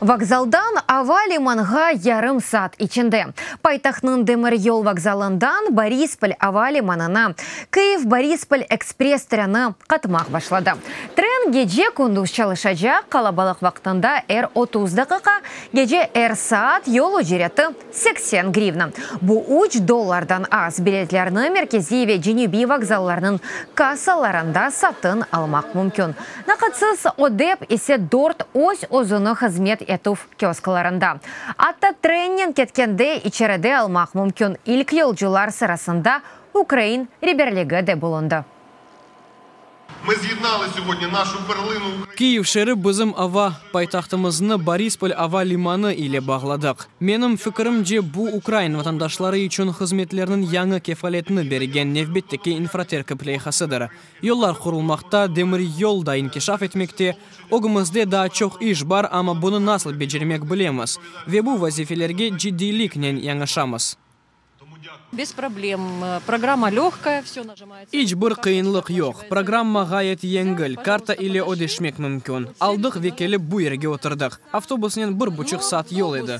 Vokzaldan ava limanğa yarım saat içinde. Paytahtnıñ demiryol vokzalından Borispol ava limanına Kıyiv-Borispol ekspress treni qatmaq başladı. Tren gece-kündüz çalışacaq, qalabalıq vaqtında er 30 daqiqa, gece er saat, yol ücreti 80 grivna. Bu üç dollardan az. Biletlerni Merkeziy ve Cenübiy vokzallarnıñ kassalarında satın almaq mümkün. Naqıtsız ödep ise dört öz-özüni hızmet etüv kiosklarında. Atta trennen ketkende içeride almaq mümkün. İlk yolcular sırasında ukrain reberligi de bulundı. Kyiv şeeri bizim ava paytahtımıznı Borispol ava limanı ile bağladıq. Menim fikirimce, bu, ukrain vatandaşları içün hızmetlerniñ yañı kefaletini bergen nevbetteki infraterkip leyhasıdır. Yollar qurulmaqta, demiryol da inkişaf etmekte. Ögümizde daa çoq iş bar, amma bunı nasıl becermek bilemiz ve bu vazifelerge ciddiyliknen yanaşamız. Bez problem. Programma lögkaya, vse najimается. İç bir qıyınlıq yoq. Programma ğayet yengil, karta ile ödeşmek mümkün. Aldıq ve kelip bu yerge oturdıq. Avtobusnen bir buçuq saat yol edi.